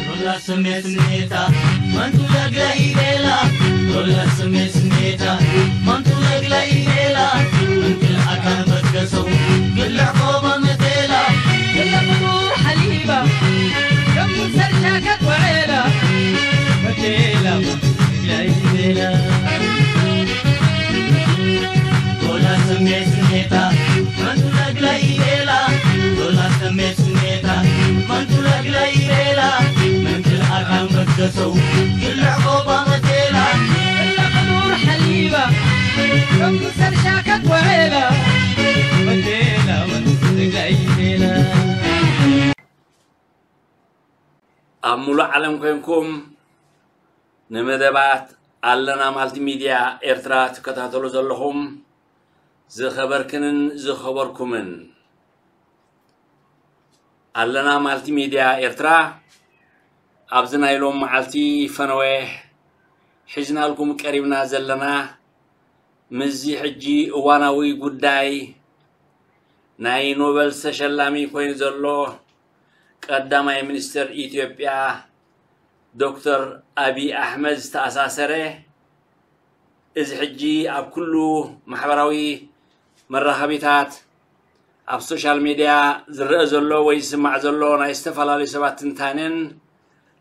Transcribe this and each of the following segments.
ዶላ ስሜት ስሜታ መንቱ ለግለ ኢሌላ። ዶላ ስሜት ስሜታ መንቱ ለግለ ኢሌላ። እንክል ኣካን በትከሰው ግልዕ ቆባ መቴላ። ግለ ፍጡር ሓሊባ ከም ሰርሻ ከትወዕላ። መቴላ መንቱ ለግለ ኢሌላ። ዶላ ስሜት ስሜታ መንቱ ለግለ ኢሌላ። ዶላ ስሜት ስሜታ መንቱ ለግለ ኢሌላ። መንክል ኣካን በትከሰው ግልዕ ቆባ መቴላ። ግለ ፍጡር ሓሊባ ከም ሰርሻ ከትወዕላ። መቴላ መንቱ ለግለ ኢሌላ። ኣብ ሙሉእ ዓለም ኮይንኩም ንመደባት ኣለና ማልቲ ሚድያ ኤርትራ ትከታተሉ ዘለኹም ዝኸበርክንን ዝኸበርኩምን፣ ኣለና ማልቲ ሚድያ ኤርትራ ኣብዚ ናይ ሎም መዓልቲ ፈነወ ሒዝናልኩም ቀሪብና ዘለና ምስዚ ሕጂ እዋናዊ ጉዳይ ናይ ኖበል ተሸላሚ ኮይኑ ዘሎ ቀዳማይ ሚኒስትር ኢትዮጵያ ዶክተር ኣቢይ ኣሕመድ ዝተኣሳሰረ፣ እዚ ሕጂ ኣብ ኩሉ ማሕበራዊ መራኸቢታት፣ ኣብ ሶሻል ሚድያ ዝረአ ዘሎ ወይ ዝስማዕ ዘሎ ናይ ዝተፈላለዩ ሰባት ትንታነን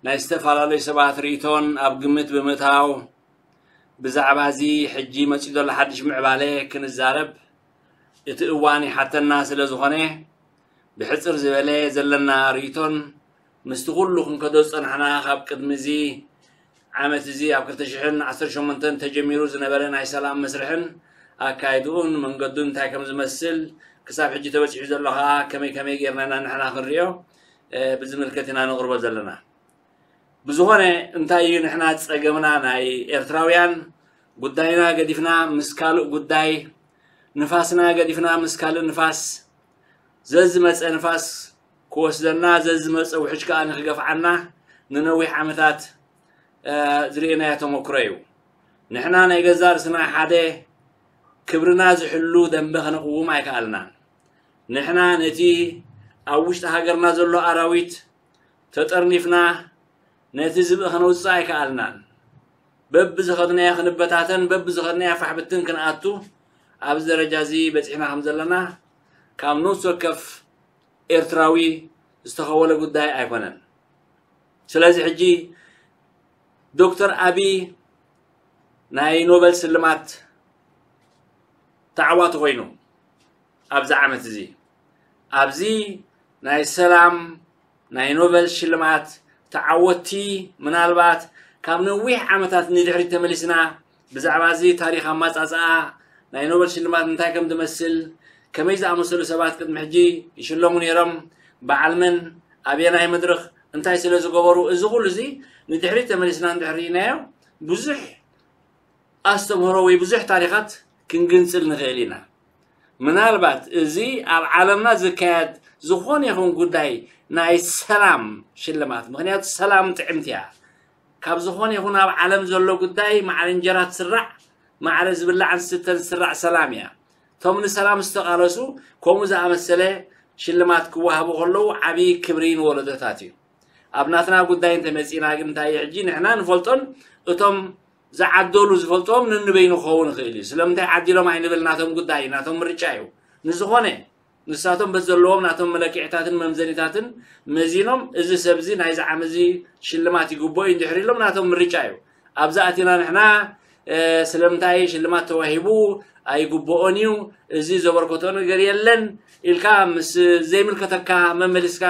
ናይ ዝተፈላለዩ ሰባት ርእይቶን ኣብ ግምት ብምእታው፣ ብዛዕባ እዚ ሕጂ መጺኡ ዘሎ ሓድሽ ምዕባለ ክንዛረብ እቲ እዋን ይሓተና ስለ ዝኾነ፣ ብሕጽር ዝበለ ዘለና ርእይቶን ምስቲ ኩሉ ክንከዶ ዝጸናሕና ካብ ቅድሚ እዚ ዓመት እዚ ኣብ ክልተ ሽሕን ዓሰርተ ሸሞንተን ተጀሚሩ ዝነበረ ናይ ሰላም መስርሕን ኣካይድኡን መንገዱን እንታይ ከም ዝመስል ክሳብ ሕጂ ተበጺሑ ዘሎ ከኣ ከመይ ከመይ ጌርና ኢና ንሕና ክንርእዮ፣ እ፣ ብዝምልከት ኢና ነቕርቦ ዘለና። ብዝኾነ እንታይ እዩ ንሕና ጸገምና ናይ ኤርትራውያን? ጉዳይና ገዲፍና ምስ ካልእ ጉዳይ፣ ንፋስና ገዲፍና ምስ ካልእ ንፋስ፣ ዘዝመጸ ንፋስ ክወስደና፣ ዘዝመጸ ውሕጅ ከኣ ንክገፍዓና ንነዊሕ ዓመታት፣ እ፣ ዝርእናዮ ተመክሮ እዩ። ንሕና ናይ ገዛእ ርእስና ሓደ ክብርና ዝሕሉ ደንበ ከነቕውም ኣይከኣልናን። ንሕና ነቲ ኣብ ውሽጢ ሃገርና ዘሎ ኣራዊት ተጠርኒፍና ነቲ ዝብኢ ከነውጽእ ኣይከኣልናን። በብዝኸድናዮ ክንበታተን፣ በብዝኸድናዮ ፋሕ ብትን ክንኣቱ ኣብዚ ደረጃ እዚ በጺሕና ከም ዘለና ካብ ነፍሲ ወከፍ ኤርትራዊ ዝተኸወለ ጉዳይ ኣይኮነን። ስለዚ ሕጂ ዶክተር ኣቢይ ናይ ኖበል ስልማት ተዓዋቲ ኮይኑ ኣብዚ ዓመት እዚ፣ ኣብዚ ናይ ሰላም ናይ ኖበል ሽልማት ተዓወትቲ ምናልባት ካብ ነዊሕ ዓመታት ንድሕሪት ተመሊስና ብዛዕባ እዚ ታሪኽ ኣማጻጽኣ ናይ ኖበል ሽልማት እንታይ ከም ዝመስል፣ ከመይ ዝኣመሰሉ ሰባት ቅድሚ ሕጂ ይሽለሙ ነይሮም፣ በዓል መን፣ ኣበየናይ መድረኽ፣ እንታይ ስለ ዝገበሩ፣ እዚ ኩሉ እዚ ንድሕሪት ተመሊስና እንድሕር ርኢናዮ ብዙሕ ኣስተምህሮ ወይ ብዙሕ ታሪኻት ክንግንጽል ንኽእል ኢና። ምናልባት እዚ ኣብ ዓለምና ዝካየድ ዝኾነ ይኹን ጉዳይ ናይ ሰላም ሽልማት፣ ምኽንያቱ ሰላም ጥዕምቲ እያ። ካብ ዝኾነ ይኹን ኣብ ዓለም ዘሎ ጉዳይ ማዕረ እንጀራ ትስራዕ፣ ማዕረ ዝብላዕን ዝስተን ዝስራዕ ሰላም እያ። እቶም ንሰላም ዝተቓለሱ ከምኡ ዝኣመሰለ ሽልማት ክወሃቡ ከለዉ ዓብዪ ክብሪ ንወለዶታት እዩ። ኣብ ናትና ጉዳይ እንተመጺእና ግን እንታይ እዩ ሕጂ ንሕና ንፈልጦን እቶም ዝዓደሉ ዝፈልጥዎም ነንበይኑ ክኸውን ይኽእል እዩ። ስለምንታይ ዓዲሎም ኣይንብል፣ ናቶም ጉዳይ እዩ፣ ናቶም ምርጫ እዩ። ንዝኾነ ንሳቶም በቲ ዘለዎም ናቶም መለክዒታትን መምዘኒታትን መዚኖም እዚ ሰብ እዚ ናይዚ ዓመት እዚ ሽልማት ይግብኦ እዩ እንድሕር ኢሎም ናቶም ምርጫ እዩ። ኣብዚ ኣቲና ንሕና፣ እ፣ ስለምንታይ ሽልማት ተዋሂቡ ኣይግብኦን እዩ፣ እዚ ዘበርከቶ ነገር የለን ኢልካ ምስ ዘይምልከተካ መመሊስካ፣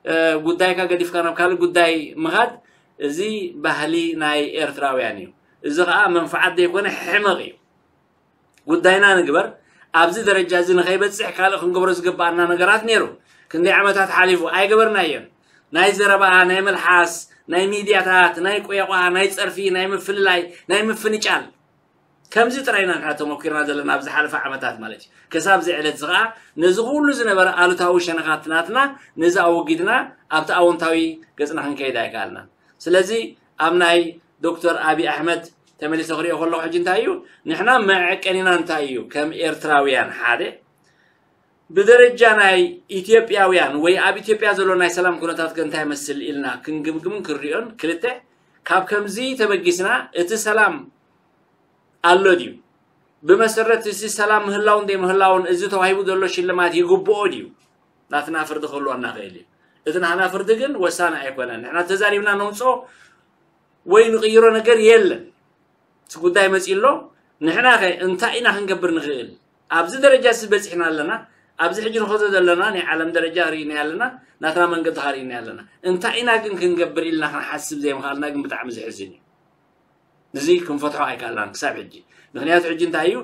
እ፣ ጉዳይካ ገዲፍካ ናብ ካልእ ጉዳይ ምኻድ፣ እዚ ባህሊ ናይ ኤርትራውያን እዩ። እዚ ኸኣ መንፍዓት ዘይኮነ ሕመቕ እዩ። ጉዳይና ንግበር። ኣብዚ ደረጃ እዚ ንኸይበጽሕ ካልእ ክንገብሮ ዝግብኣና ነገራት ነይሩ። ክንደይ ዓመታት ሓሊፉ ኣይገበርናዮን። ናይ ዘረባ፣ ናይ መልሓስ፣ ናይ ሚድያታት፣ ናይ ቆያቋ፣ ናይ ጸርፊ፣ ናይ ምፍልላይ፣ ናይ ምፍንጫል፣ ከምዚ ጥራይ ኢና ንሕና ተመኪርና ዘለና ኣብ ዝሓለፈ ዓመታት ማለት እዩ። ክሳብ እዚ ዕለት እዚ ኸዓ ነዚ ኩሉ ዝነበረ ኣሉታዊ ሸነኻት ናትና ነዚ ኣወጊድና ኣብቲ ኣወንታዊ ገጽና ክንከይድ ኣይከኣልናን። ስለዚ ኣብ ናይ ዶክተር ኣብይ ኣሕመድ ተመሊሰ ክሪኦ ከለኹ ሕጂ እንታይ እዩ ንሕና መዐቀኒና እንታይ እዩ ከም ኤርትራውያን ሓደ ብደረጃ ናይ ኢትዮጵያውያን ወይ ኣብ ኢትዮጵያ ዘሎ ናይ ሰላም ኩነታት ከ እንታይ ይመስል ኢልና ክንግምግምን ክንሪኦን፣ ክልተ ካብ ከምዚ ተበጊስና እቲ ሰላም ኣሎ ድዩ? ብመሰረት እዚ ሰላም ምህላውን ዘይምህላውን እዚ ተዋሂቡ ዘሎ ሽልማት ይግብኦ ድዩ? ናትና ፍርዲ ክህልወና ይኽእል እዩ። እቲ ናትና ፍርዲ ግን ወሳኒ ኣይኮነን። ንሕና ተዛሪብና ነውፅኦ ወይ ንቕይሮ ነገር የለን። እቲ ጉዳይ መፂኡ ኣሎ። ንሕና ኸ እንታይ ኢና ክንገብር ንኽእል? ኣብዚ ደረጃ እዚ በፂሕና ኣለና። ኣብዚ ሕጂ ንኸዶ ዘለና ናይ ዓለም ደረጃ ርኢና ኣለና፣ ናትና መንገዲ ኸ ርኢና ኣለና። እንታይ ኢና ግን ክንገብር ኢልና ክንሓስብ ዘይምኽኣልና ግን ብጣዕሚ ዘሕዝን እዩ። እዚ ክንፈትሖ ኣይከኣልናን ክሳብ ሕጂ። ምኽንያቱ ሕጂ እንታይ እዩ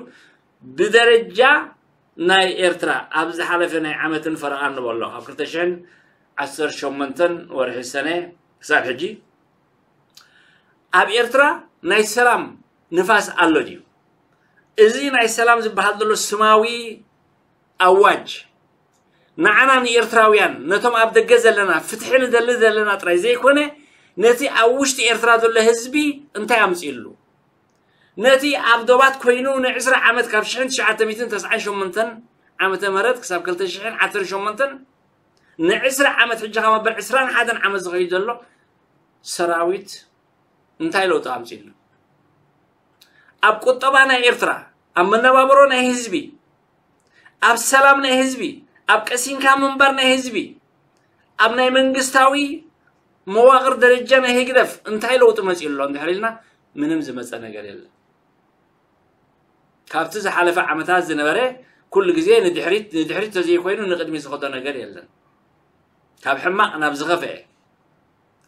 ብደረጃ ናይ ኤርትራ ኣብ ዝሓለፈ ናይ ዓመትን ፈረቓን ንበሎ ካብ ክልተ ሽሕን ዓሰርተ ሸሞንተን ወርሒ ሰነ ክሳብ ሕጂ ኣብ ኤርትራ ናይ ሰላም ንፋስ ኣሎ ድዩ? እዚ ናይ ሰላም ዝበሃል ዘሎ ስማዊ ኣዋጅ ንዓና ንኤርትራውያን ነቶም ኣብ ደገ ዘለና ፍትሒ ንደሊ ዘለና ጥራይ ዘይኮነ ነቲ ኣብ ውሽጢ ኤርትራ ዘሎ ህዝቢ እንታይ ኣምፅእሉ? ነቲ ኣብ ዶባት ኮይኑ ንዕስራ ዓመት ካብ ሽሕን ትሽዓተ ሚእትን ተስዓን ሸሞንተን ዓመተ ምህረት ክሳብ ክልተ ሽሕን ዓሰርተ ሸሞንተን ንዕስራ ዓመት ሕጂ ካብ መበል ዕስራን ሓደን ዓመት ዝኸይድ ዘሎ ሰራዊት እንታይ ለውጢ ኣምፅእሉ? ኣብ ቁጠባ ናይ ኤርትራ፣ ኣብ መነባብሮ ናይ ህዝቢ፣ ኣብ ሰላም ናይ ህዝቢ፣ ኣብ ቀሲንካ ምንባር ናይ ህዝቢ፣ ኣብ ናይ መንግስታዊ መዋቕር ደረጃ ናይ ህግደፍ እንታይ ለውጢ መፂኡ ኣሎ እንድሕር ኢልና ምንም ዝመፀ ነገር የለን። ካብቲ ዝሓለፈ ዓመታት ዝነበረ ኩሉ ግዜ ንድሕሪት ንድሕሪት ተዘይኮይኑ ንቕድሚት ዝኸዶ ነገር የለን። ካብ ሕማቕ ናብ ዝኸፍአ፣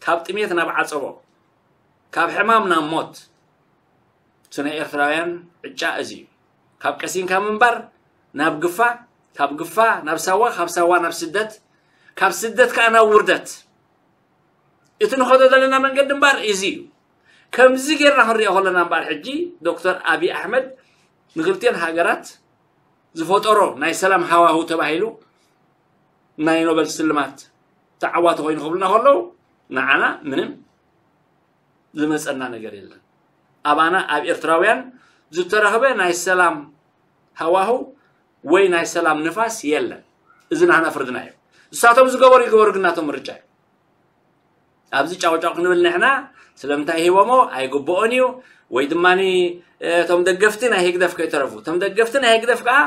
ካብ ጥሜት ናብ ዓጸቦ፣ ካብ ሕማም ናብ ሞት። እቲ ናይ ኤርትራውያን ዕጫ እዚ እዩ። ካብ ቀሲንካ ምንባር ናብ ግፋ፣ ካብ ግፋ ናብ ሳዋ፣ ካብ ሳዋ ናብ ስደት፣ ካብ ስደት ከኣ ናብ ውርደት። እቲ ንኸዶ ዘለና መንገዲ እምበር እዚ እዩ። ከምዚ ጌርና ክንሪኦ ከለና እምበር ሕጂ ዶክተር ኣብይ ኣሕመድ ንክልቲኦን ሃገራት ዝፈጠሮ ናይ ሰላም ሃዋሁ ተባሂሉ ናይ ኖበል ስልማት ተዓዋቲ ኮይኑ ክብሉና ከለዉ ንዓና ምንም ዝመፀና ነገር የለን። ኣባና ኣብ ኤርትራውያን ዝተረኽበ ናይ ሰላም ሃዋሁ ወይ ናይ ሰላም ንፋስ የለን። እዚ ናህና ፍርድና እዩ። እሳቶም ዝገበሩ ይገበሩ ግን ናቶም ምርጫ እዩ። ኣብዚ ጫውጫው ክንብል ንሕና ስለምንታይ ሂቦሞ ኣይግብኦን እዩ ወይ ድማ እቶም ደገፍቲ ናይ ህግደፍ ከይተረፉ እቶም ደገፍቲ ናይ ህግደፍ ከዓ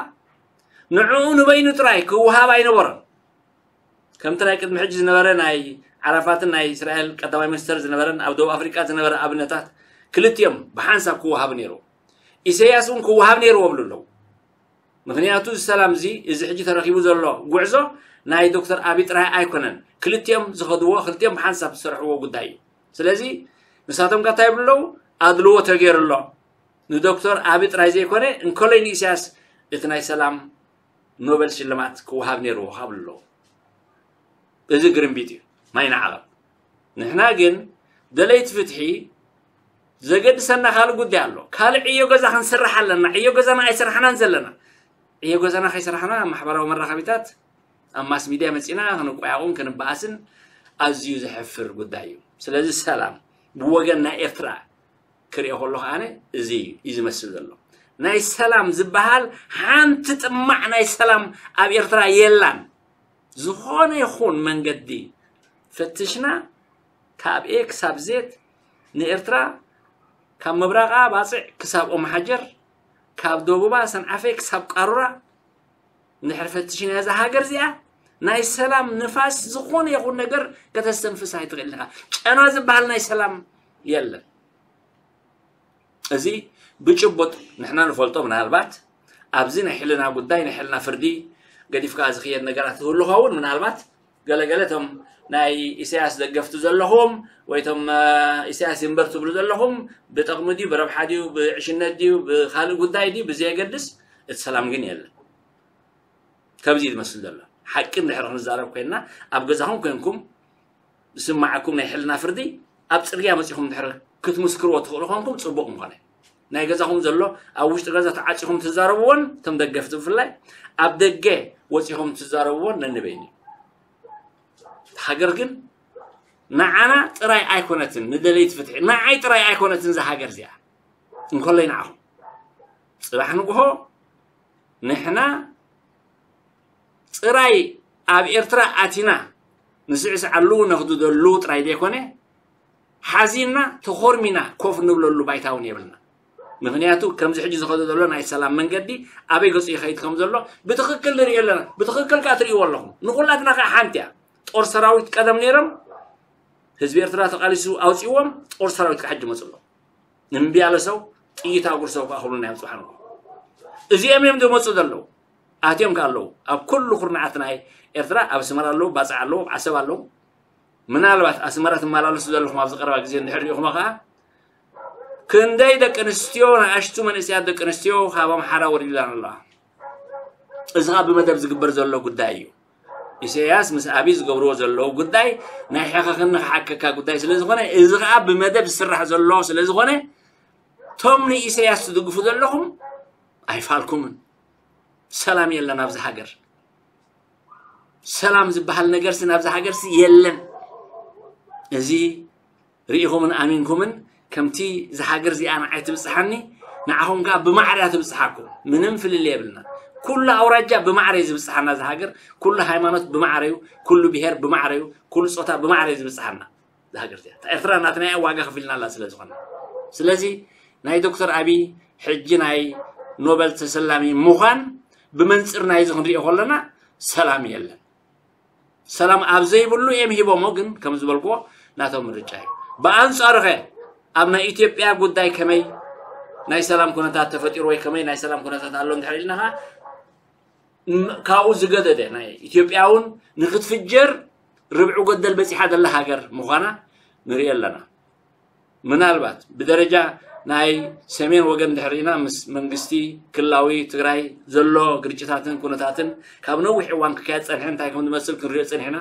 ንዕኡ ንበይኑ ጥራይ ክወሃብ ኣይነበሮን። ከምቲ ናይ ቅድሚ ሕጂ ዝነበረ ናይ ዓራፋትን ናይ እስራኤል ቀዳማይ ሚኒስተር ዝነበረን ኣብ ደቡብ ኣፍሪቃ ዝነበረ ኣብነታት ክልቲኦም ብሓንሳብ ክወሃብ ነይሩ። ኢሰያስ እውን ክወሃብ ነይርዎ ብሉ ኣለዉ። ምክንያቱ እዚ ሰላም እዚ እዚ ሕጂ ተረኪቡ ዘሎ ጉዕዞ ናይ ዶክተር ኣቢ ጥራይ ኣይኮነን። ክልቲኦም ዝኸድዎ ክልቲኦም ብሓንሳብ ዝሰርሕዎ ጉዳይ እዩ። ስለዚ ንሳቶም ከ እንታይ ይብሉ ኣለዉ? ኣድልዎ ተገይሩ ኣሎ ንዶክተር ኣቢ ጥራይ ዘይኮነ እንከሎይ ንኢሳያስ እቲ ናይ ሰላም ኖበል ሽልማት ክወሃብ ነይርዎ ካብ ኣለዉ እዚ ግርምቢጥ እዩ ማይ ንዓቐብ። ንሕና ግን ደለይቲ ፍትሒ ዘገድሰና ካልእ ጉዳይ ኣሎ። ካልእ ዕዮ ገዛ ክንስራሕ ኣለና። ዕዮ ገዛና ኣይሰራሕናን ዘለና። ዕዮ ገዛና ከይሰራሕና ኣብ ማሕበራዊ መራኸቢታት ኣብ ማስ ሚድያ መፂና ክንቋያቑን ክንበኣስን ኣዝዩ ዘሕፍር ጉዳይ እዩ። ስለዚ ሰላም ብወገን ናይ ኤርትራ ክሪኦ ከሎ ከዓነ እዚ እዩ ዝመስል ዘሎ። ናይ ሰላም ዝበሃል ሓንቲ ጥማዕ ናይ ሰላም ኣብ ኤርትራ የላን። ዝኾነ ይኹን መንገዲ ፈትሽና ካብ ኤ ክሳብ ዜድ ንኤርትራ ካብ ምብራቓ ባፅዕ ክሳብ ኦምሓጀር ካብ ደቡባ ሰንዓፈ ክሳብ ቃሩራ እንድሕር ፈትሽና እዛ ሃገር እዚኣ ናይ ሰላም ንፋስ ዝኾነ ይኹን ነገር ከተስተንፍስ ኣይትኽእልን ኢኻ። ጨና ዝበሃል ናይ ሰላም የለን። እዚ ብጭቡጥ ንሕና ንፈልጦ ምናልባት ኣብዚ ናይ ሕልና ጉዳይ ናይ ሕልና ፍርዲ ገዲፍካ ዝኽየድ ነገራት ዝህሉ ኸውን ምናልባት ገለገለ እቶም ናይ ኢሳያስ ደገፍቲ ዘለኹም ወይ እቶም ኢሳያስ ይንበር ትብሉ ዘለኹም ብጠቕሚ ድዩ ብረብሓ ድዩ ብዕሽነት ድዩ ብካልእ ጉዳይ ድዩ ብዘየገድስ እቲ ሰላም ግን የለን። ከምዚ እዩ ዝመስል ዘሎ ሓቂ እንድሕር ክንዛረብ ኮይንና ኣብ ገዛኹም ኮንኩም ዝስማዓኩም ናይ ሕልና ፍርዲ ኣብ ፅርግያ መፂኹም እንድሕር ክትምስክርዎ ትኽእሉ ኮንኩም ፅቡቕ ምኾነ። ናይ ገዛኹም ዘሎ ኣብ ውሽጢ ገዛ ተዓፂኹም ትዛረብዎን፣ እቶም ደገፍቲ ብፍላይ ኣብ ደገ ወፂኹም ትዛረብዎን ነንበይኑ። ሃገር ግን ንዓና ጥራይ ኣይኮነትን፣ ንደለይቲ ፍትሒ ንዓይ ጥራይ ኣይኮነትን እዛ ሃገር እዚኣ፣ እንኮለይ ንዓኹም። ፅባሕ ንግሆ ንሕና ጥራይ ኣብ ኤርትራ ኣቲና ንስዕስዓሉ ነኽድደሉ ጥራይ ዘይኮነ፣ ሓዚንና ተኾርሚና ኮፍ ንብለሉ ባይታ እውን የብልና። ምኽንያቱ ከምዚ ሕጂ ዝኸዶ ዘሎ ናይ ሰላም መንገዲ ኣበይ ገፁ ይኸይድ ከም ዘሎ ብትኽክል ንሪኦ ኣለና። ብትኽክል ከዓ ትሪእዎ ኣለኹም። ንኹላትና ከዓ ሓንቲ እያ። ጦር ሰራዊት ቀደም ነይሮም፣ ህዝቢ ኤርትራ ተቓሊሱ ኣውፂዎም፣ ጦር ሰራዊት ከዓ ሕጂ መፁ ኣሎ። እምቢ ያለ ሰው ጥይት አጉርሰው ከዓ ክብሉና እዮም ፅባሕ ንግሆ። እዚኦም እዮም ዝመፁ ዘለዉ። ኣትዮም ከ ኣለዉ ኣብ ኩሉ ኩርናዓት ናይ ኤርትራ፣ ኣብ ኣስመራ ኣለዉ፣ ባፅዕ ኣለዉ፣ ዓሰብ ኣለዉ። ምናልባት ኣስመራ ትመላለሱ ዘለኹም ኣብዚ ቀረባ ግዜ እንድሕር ሪኢኹሞ ከዓ ክንደይ ደቂ ኣንስትዮ፣ ንኣሽቱ መንእሰያት ደቂ ኣንስትዮ ካብ ኣምሓራ ወሪድላን ኣለዋ። እዚ ከዓ ብመደብ ዝግበር ዘሎ ጉዳይ እዩ። ኢሳያስ ምስ ኣብይ ዝገብርዎ ዘለዉ ጉዳይ ናይ ሕኸኽን ንኽሓከካ ጉዳይ ስለ ዝኾነ፣ እዚ ከዓ ብመደብ ዝስራሕ ዘሎ ስለ ዝኾነ፣ ቶም ንኢሳያስ ትድግፉ ዘለኹም ኣይፋልኩምን። ሰላም የለን ኣብዚ ሃገር። ሰላም ዝበሃል ነገርሲ ናብዚ ሃገርሲ የለን። እዚ ርኢኹምን ኣሚንኩምን ከምቲ እዛ ሃገር እዚኣ ንዓይ ትብጽሓኒ፣ ንዓኹም ከኣ ብማዕረ እያ ትብጽሓኩም። ምንም ፍልልይ የብልና። ኩሉ ኣውራጃ ብማዕረ እዩ ዝብጽሓና እዛ ሃገር። ኩሉ ሃይማኖት ብማዕረ እዩ፣ ኩሉ ብሄር ብማዕረ እዩ፣ ኩሉ ጾታ ብማዕረ እዩ ዝብጽሓና እዛ ሃገር እዚኣ። እታ ኤርትራ ናትና እያ፣ ዋጋ ከፊልና ኣላ ስለ ዝኾነ። ስለዚ ናይ ዶክተር ኣቢይ ሕጂ ናይ ኖበል ተሰላሚ ምዃን ብመንጽር ናይዚ ክንሪኦ ከለና ሰላም የለን። ሰላም ኣብ ዘይብሉ እዮም ሂቦሞ፣ ግን ከም ዝበልክዎ ናቶም ምርጫ እዩ። ብኣንጻሩ ኸ ኣብ ናይ ኢትዮጵያ ጉዳይ ከመይ ናይ ሰላም ኩነታት ተፈጢሩ ወይ ከመይ ናይ ሰላም ኩነታት ኣሎ እንድሕር ኢልና ኸዓ፣ ም-፣ ካብኡ ዝገደደ ናይ ኢትዮጵያ እውን ንክትፍጀር ርብዒ ገደል በጺሓ ዘላ ሃገር ምዃና ንርኢ ኣለና። ምናልባት ብደረጃ ናይ ሰሜን ወገን እንድሕር ርኢና ምስ መንግስቲ ክልላዊ ትግራይ ዘሎ ግርጭታትን ኩነታትን ካብ ነዊሕ እዋን ክካየድ ጸኒሐ እንታይ ከም ዝመስል ክንሪኦ ጸኒሕና።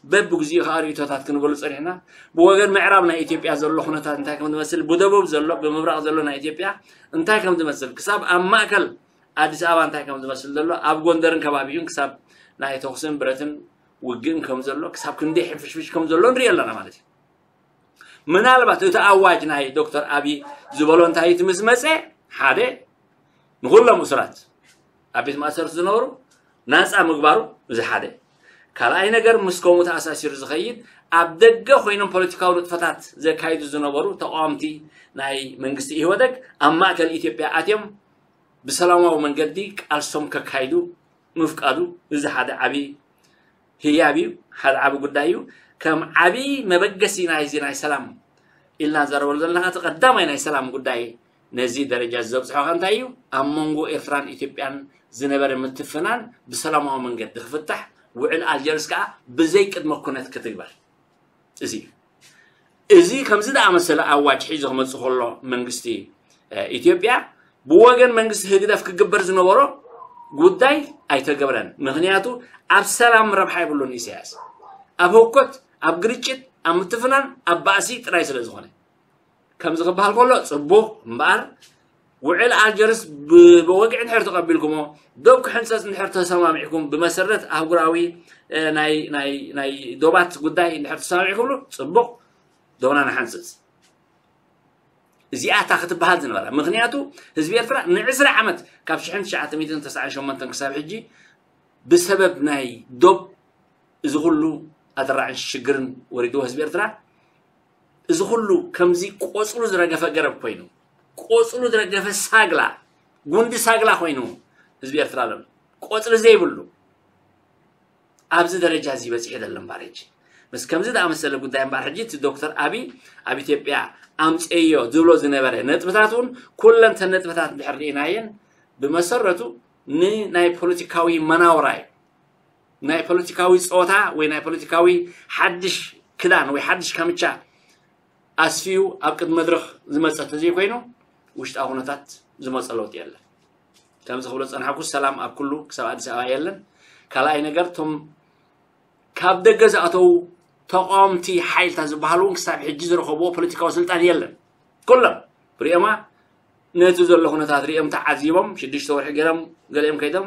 በብግዚኡ ከዓ ርእይቶታት ክንበሉ ጸኒሕና። ብወገን ምዕራብ ናይ ኢትዮጵያ ዘሎ ኩነታት እንታይ ከም ዝመስል፣ ብደቡብ ዘሎ፣ ብምብራቕ ዘሎ ናይ ኢትዮጵያ እንታይ ከም ዝመስል፣ ክሳብ ኣብ ማእከል ኣዲስ ኣበባ እንታይ ከም ዝመስል ዘሎ፣ ኣብ ጎንደርን ከባቢኡን ክሳብ ናይ ተኹስን ብረትን ውግእን ከም ዘሎ፣ ክሳብ ክንደይ ሕፍሽፍሽ ከም ዘሎ ንሪኦ ኣለና ማለት እዩ። ምናልባት እቲ ኣዋጅ ናይ ዶክተር ኣቢ ዝበሎ እንታይ እቲ ምስ መፀ፣ ሓደ ንኹሎም እሱራት ኣብ ቤት ማእሰርቲ ዝነበሩ ናፃ ምግባሩ፣ እዚ ሓደ። ካልኣይ ነገር ምስ ከምኡ ተኣሳሲሩ ዝኸይድ ኣብ ደገ ኮይኖም ፖለቲካዊ ንጥፈታት ዘካይዱ ዝነበሩ ተቃወምቲ ናይ መንግስቲ ኢህወደግ ኣብ ማእከል ኢትዮጵያ ኣትዮም ብሰላማዊ መንገዲ ቃልሶም ከካይዱ ምፍቃዱ፣ እዚ ሓደ ዓቢ ህያብ እዩ፣ ሓደ ዓቢ ጉዳይ እዩ። ከም ዓቢ መበገሲ ናይዚ ናይ ሰላም ኢልና ንዛረበሉ ዘለና እቲ ቀዳማይ ናይ ሰላም ጉዳይ ነዚ ደረጃ እዚ ዘብጽሖ ከ እንታይ እዩ? ኣብ መንጎ ኤርትራን ኢትዮጵያን ዝነበረ ምትፍናን ብሰላማዊ መንገዲ ክፍታሕ፣ ውዕል ኣልጀርስ ከኣ ብዘይ ቅድመ ኩነት ክትግበር። እዚ እዩ። እዚ ከምዚ ዝኣመሰለ ኣዋጅ ሒዙ ክመጽእ ከሎ መንግስቲ፣ እ፣ ኢትዮጵያ ብወገን መንግስቲ ህግደፍ ክግበር ዝነበሮ ጉዳይ ኣይተገብረን። ምኽንያቱ ኣብ ሰላም ረብሓ የብሉን ኢሳያስ። ኣብ ህውከት፣ ኣብ ግርጭት፣ ኣብ ምትፍናን፣ ኣብ ባእሲ ጥራይ ስለ ዝኾነ። ከምዚ ክበሃል ከሎ ጽቡቕ እምበኣር፣ ውዕል ኣልጀርስ ብ-፣ ብወግዒ እንድሕር ተቐቢልኩሞ፣ ዶብ ክሕንጸጽ እንድሕር ተሰማሚዕኩም፣ ብመሰረት ኣህጉራዊ፣ እ፣ ናይ፣ ናይ፣ ናይ ዶባት ጉዳይ እንድሕር ተሰማሚዕኩምሉ፣ ጽቡቕ፣ ዶብና ንሓንጽጽ። እዚኣ እታ ክትበሃል ዝነበራ። ምኽንያቱ ህዝቢ ኤርትራ ንዕስራ ዓመት፣ ካብ ሽሕን ትሽዓተ ሚእትን ተስዓን ሸሞንተን ክሳብ ሕጂ፣ ብሰበብ ናይ ዶብ እዚ ኩሉ ኣደራዕን ሽግርን ወሪድዎ ህዝቢ ኤርትራ፣ እዚ ኩሉ ከምዚ ቆጽሉ ዝረገፈ ገረብ ኮይኑ፣ ቆጽሉ ዝረገፈ ሳግላ፣ ጉንዲ ሳግላ ኮይኑ ህዝቢ ኤርትራ ኣሎ። ቆጽሊ ዘይብሉ ኣብዚ ደረጃ እዚ በጺሑ ዘሎ እምበኣር ሕጂ። ምስ ከምዚ ዝኣመሰለ ጉዳይ እምበኣር ሕጂ እቲ ዶክተር ኣቢ ኣብ ኢትዮጵያ ኣምጽእዮ ዝብሎ ዝነበረ ነጥብታት እውን ኩለን እተን ነጥብታት እንድሕር ርኢናየን ብመሰረቱ ንናይ ፖለቲካዊ መናውራ እዩ። ናይ ፖለቲካዊ ጸወታ ወይ ናይ ፖለቲካዊ ሓድሽ ክዳን ወይ ሓድሽ ካምቻ ኣስፍዩ ኣብ ቅድሚ መድረኽ ዝመጸ ተዘይኮይኑ ውሽጣዊ ኩነታት ዝመጸ ለውጢ የለን። ከምዚ ክብሎ ዝጸናሕኩ ሰላም ኣብ ኩሉ ክሳብ ኣዲስ ኣበባ የለን። ካልኣይ ነገር እቶም ካብ ደገ ዝኣተዉ ተቃወምቲ ሓይልታት ዝበሃሉ እውን ክሳብ ሕጂ ዝረኸብዎ ፖለቲካዊ ስልጣን የለን። ኩሎም ብሪኦማ ነቲ ዘሎ ኩነታት ሪኦም ተዓዚቦም ሽዱሽተ ወርሒ ገይሮም ገሊኦም ከይዶም፣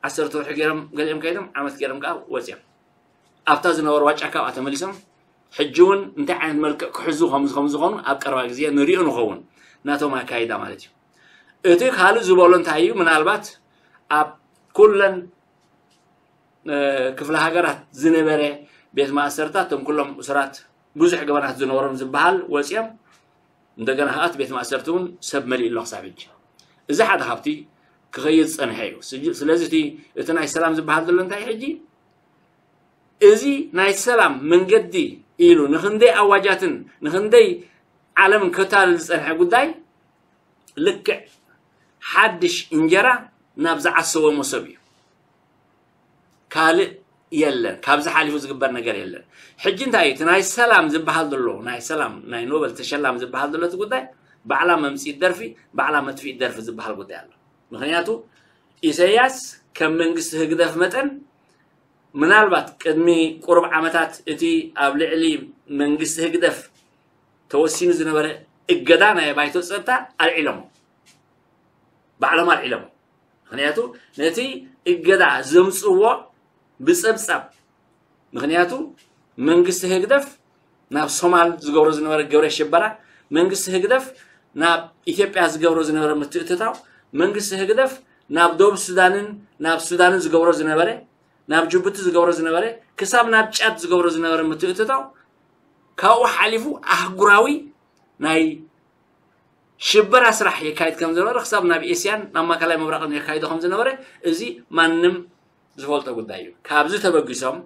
ዓሰርተ ወርሒ ገይሮም ገሊኦም ከይዶም፣ ዓመት ገይሮም ከዓ ወፂኦም። ኣብታ ዝነበርዋ ጫካ ኣብኣ ተመሊሶም ሕጂ እውን እንታይ ዓይነት መልክዕ ክሕዙ ከም ከም ዝኾኑ ኣብ ቀረባ ግዜ ንሪኦ ንኸውን። ናቶም ኣካይዳ ማለት እዩ። እቲ ካልእ ዝበሎ እንታይ እዩ? ምናልባት ኣብ ኩለን ክፍለ ሃገራት ዝነበረ ቤት ማእሰርታት እቶም ኩሎም እሱራት ብዙሕ ገበናት ዝነበሮም ዝበሃል ወፂኦም፣ እንደገና ከዓ እቲ ቤት ማእሰርቲ እውን ሰብ መሊኡ ኣሎ ክሳብ ሕጂ። እዚ ሓደ ካብቲ ክኸይድ ዝፀንሐ እዩ። ስለዚ እቲ ናይ ሰላም ዝበሃል ዘሎ እንታይ ሕጂ? እዚ ናይ ሰላም መንገዲ ኢሉ ንክንደይ ኣዋጃትን ንክንደይ ዓለምን ከታልል ዝፀንሐ ጉዳይ ልክዕ ሓድሽ እንጀራ ናብ ዝዓሰቦ መሶብ እዩ። ካልእ የለን። ካብዚ ሓሊፉ ዝግበር ነገር የለን። ሕጂ እንታይ እዩ እቲ ናይ ሰላም ዝበሃል ዘሎ፣ ናይ ሰላም ናይ ኖበል ተሸላሚ ዝበሃል ዘሎ እቲ ጉዳይ? ባዕላ መምፅኢት ደርፊ፣ ባዕላ መጥፍኢት ደርፊ ዝበሃል ጉዳይ ኣሎ። ምክንያቱ ኢሰያስ ከም መንግስቲ ህግደፍ መጠን ምናልባት ቅድሚ ቁሩብ ዓመታት እቲ ኣብ ልዕሊ መንግስቲ ህግደፍ ተወሲኑ ዝነበረ እገዳ ናይ ባይቶ ፀጥታ ኣልዒሎሞ፣ ባዕሎም ኣልዒሎሞ። ምክንያቱ ነቲ እገዳ ዘምፅዎ ብፀብፃብ፣ ምክንያቱ መንግስቲ ህግደፍ ናብ ሶማል ዝገብሮ ዝነበረ ግብረ ሽበራ፣ መንግስቲ ህግደፍ ናብ ኢትዮጵያ ዝገብሮ ዝነበረ ምትእትታው፣ መንግስቲ ህግደፍ ናብ ደቡብ ሱዳንን ናብ ሱዳንን ዝገብሮ ዝነበረ፣ ናብ ጅቡቲ ዝገብሮ ዝነበረ፣ ክሳብ ናብ ጫድ ዝገብሮ ዝነበረ ምትእትታው፣ ካብኡ ሓሊፉ ኣህጉራዊ ናይ ሽበራ ስራሕ የካይድ ከም ዝነበረ፣ ክሳብ ናብ ኤስያን ናብ ማእከላይ ምብራቕን የካይዶ ከም ዝነበረ፣ እዚ ማንም ዝፈልጦ ጉዳይ እዩ። ካብዚ ተበጊሶም